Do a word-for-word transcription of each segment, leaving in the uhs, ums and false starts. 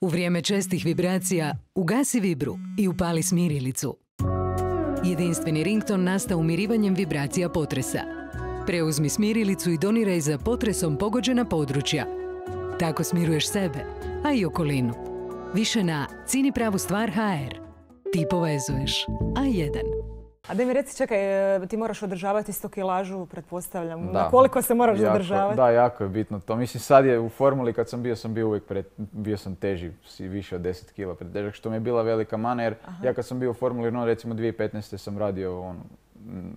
U vrijeme čestih vibracija ugasi vibru i upali smirilicu. Jedinstveni rington nastao umirivanjem vibracija potresa. Preuzmi smirilicu i doniraj za potresom pogođena područja. Tako smiruješ sebe, a i okolinu. Više na cini pravu stvar ha er. Ti povezuješ. A jedan. A da mi reci, čekaj, ti moraš održavati sto kilažu, pretpostavljam. Da. Na koliko se moraš jako, zadržavati? Da, jako je bitno to. Mislim, sad je u formuli, kad sam bio, sam bio uvijek pred, bio sam teži, više od deset kila pretežak, što mi je bila velika mana, jer Aha. ja kad sam bio u formuli, no, recimo dvije tisuće petnaeste. sam radio ono,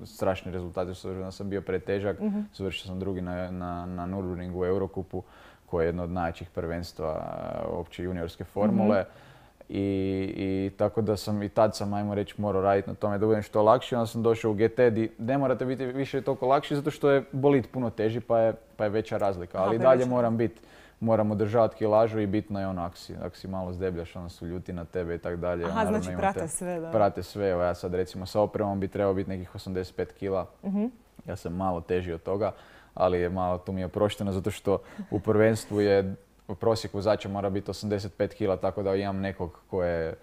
strašni rezultati, s obzirom da sam bio pretežak, uh-huh. završio sam drugi na, na, na Nürburgringu u Eurocupu, koje je jedno od najjačih prvenstva opće juniorske formule. Uh-huh. I, i tako da sam i tad sam, ajmo reći, morao raditi na tome da budem što lakši. Onda sam došao u ge te di ne morate biti više toliko lakši zato što je bolit puno teži pa je, pa je veća razlika. Ali i dalje moram biti, moram održavati kilažu i bitno je ono ako si, ako si malo zdebljaš, onda su ljuti na tebe i tako dalje. Aha, naravno, znači prate sve, da. Prate sve, evo ja sad recimo sa opremom bi trebao biti nekih osamdeset pet kila. Uh-huh. Ja sam malo teži od toga, ali je malo tu mi je oprošteno zato što u prvenstvu je prosjek vozača mora biti osamdeset pet kila, tako da imam nekog ko je,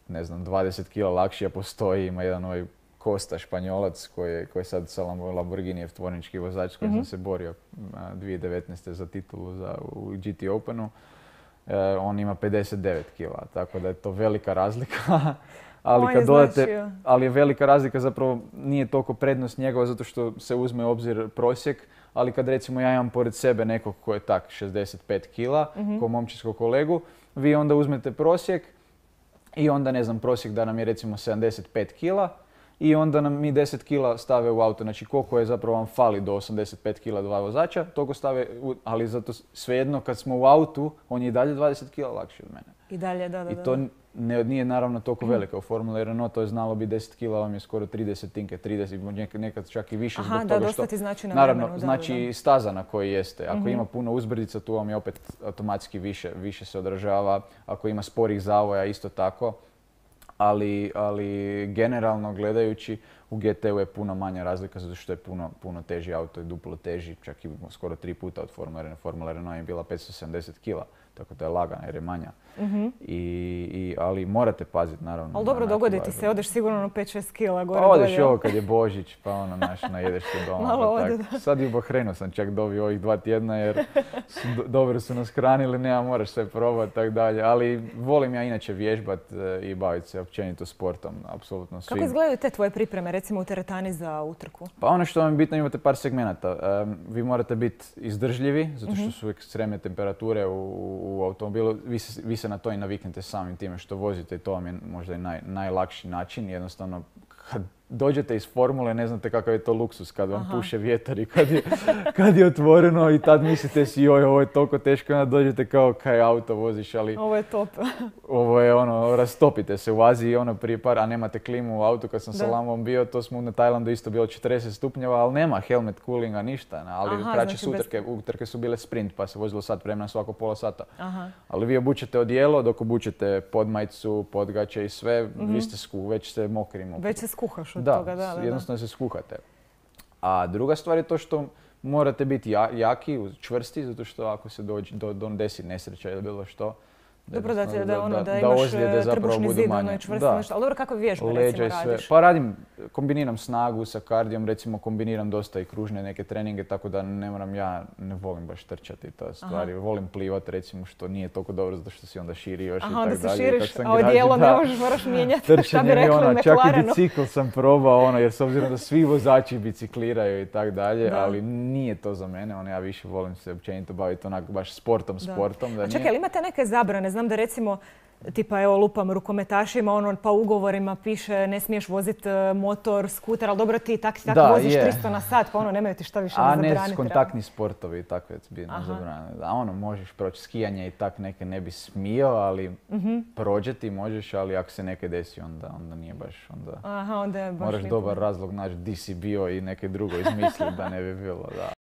ne znam, dvadeset kila lakši, a postoji, ima jedan ovaj Costa Španjolac koji, koji je sad sa Lamborghinijev tvornički vozač s kojim mm-hmm. sam se borio dvije tisuće devetnaeste. za titulu za, u ge te Openu. E, on ima pedeset devet kila, tako da je to velika razlika. ali, kad dodate, ali je velika razlika, zapravo nije toliko prednost njegova zato što se uzme u obzir prosjek. Ali kad recimo ja imam pored sebe nekog ko je tak šezdeset pet kila, mm-hmm. ko momčinskog kolegu, vi onda uzmete prosjek i onda ne znam, prosjek da nam je recimo sedamdeset pet kila i onda nam mi deset kila stave u auto. Znači koliko je zapravo vam fali do osamdeset pet kila dva vozača, toliko stave, u, ali zato svejedno kad smo u autu, on je i dalje dvadeset kila lakši od mene. I dalje, da, da, I to ne, nije naravno toliko velika u Formuli Renault, to je znalo bi deset kila, vam je skoro trideset tinke, trideset, nekad čak i više. Aha, zbog da, toga dosta što, ti znači na naravno, vremenu. znači da, da. staza na kojoj jeste. Ako Mm-hmm. ima puno uzbrdica, tu vam je opet automatski više, više se odražava. Ako ima sporih zavoja, isto tako. Ali, ali generalno gledajući, u ge te u je puno manja razlika zato što je puno, puno teži auto i duplo teži, čak i skoro tri puta od Formule Renault. Formula Renault je bila petsto sedamdeset kila, tako da je lagana jer je manja. Mm-hmm. I, i, ali morate paziti naravno. Ali dobro, dogodi ti se, odeš sigurno na pet šest kila gore pa odeš dolje. ovo kad je Božić, pa ono naš, najedeš se doma. Malo pa ode, tak. Sad i u Bahrajnu sam čak dobio ovih dva tjedna jer su, do, dobro su nas hranili, nema, moraš sve probati, tak dalje. Ali volim ja inače vježbat e, i baviti se općenito sportom, apsolutno svim. Kako izgledaju te tvoje pripreme, recimo u teretani za utrku? Pa ono što vam je bitno, imate par segmenata. Um, vi morate biti izdržljivi, zato što su ekstremne temperature u, u automobilu. Vi se, vi se na to i naviknete samim time što vozite i to vam je možda i naj, najlakši način. Jednostavno, kad dođete iz formule, ne znate kakav je to luksus kad vam Aha. puše vjetar i kad je, kad je otvoreno i tad mislite si joj, ovo je toliko teško, onda dođete kao kaj auto voziš, ali... Ovo je top. Ovo je ono, rastopite se u Aziji ono prije par, a nemate klimu u autu. Kad sam da. sa Lamom bio, to smo na Tajlandu isto bilo četrdeset stupnjeva, ali nema helmet coolinga, ništa. Ali Aha, kraće znači su utrke, bez... utrke su bile sprint, pa se vozilo sat vremena svako pola sata. Aha. Ali vi obučete odijelo, dok obučete podmajicu, podgaće i sve, mm-hmm. vi ste sku, već ste mokri. mokri. Već se skuhaš od da, toga, da, da. jednostavno se skuhate. A druga stvar je to što morate biti jaki, čvrsti, zato što ako se dođe, do, do desi nesreća ili bilo što, dobro da, te, da, ono, da, da imaš trbušni zid, ono je čvrsto nešto. Ali dobro, kako vježbe recimo radiš? Pa radim, kombiniram snagu sa kardijom, recimo kombiniram dosta i kružne neke treninge, tako da ne moram, ja ne volim baš trčati to stvari. Aha. Volim plivati recimo, što nije toliko dobro zato što si onda širi još Aha, i tako dalje. Aha, onda se širiš, a odijelo ne možeš, moraš mijenjati. Trčanje mi ono, čak i bicikl sam probao, ono, jer s obzirom da svi vozači bicikliraju i tako dalje, ali nije to za mene, ono, ja više volim se općenito baviti onako baš sportom, da. sportom. Da a čekaj, ali imate neke zabrane? Znam da recimo, tipa evo lupam rukometašima, ono pa ugovorima piše ne smiješ voziti motor, skuter, ali dobro ti tak, tak da, voziš je. tristo na sat, pa ono nemaju ti šta više a ne zabraniti. A ne kontaktni sportovi i takve bi ne zabranili. A ono možeš proći skijanje i tak neke ne bi smio, ali mm-hmm. prođe ti možeš, ali ako se neke desi onda, onda nije baš. Onda, Aha, onda je baš moraš lijepo. dobar razlog naći di si bio i neke drugo izmisliti da ne bi bilo. Da.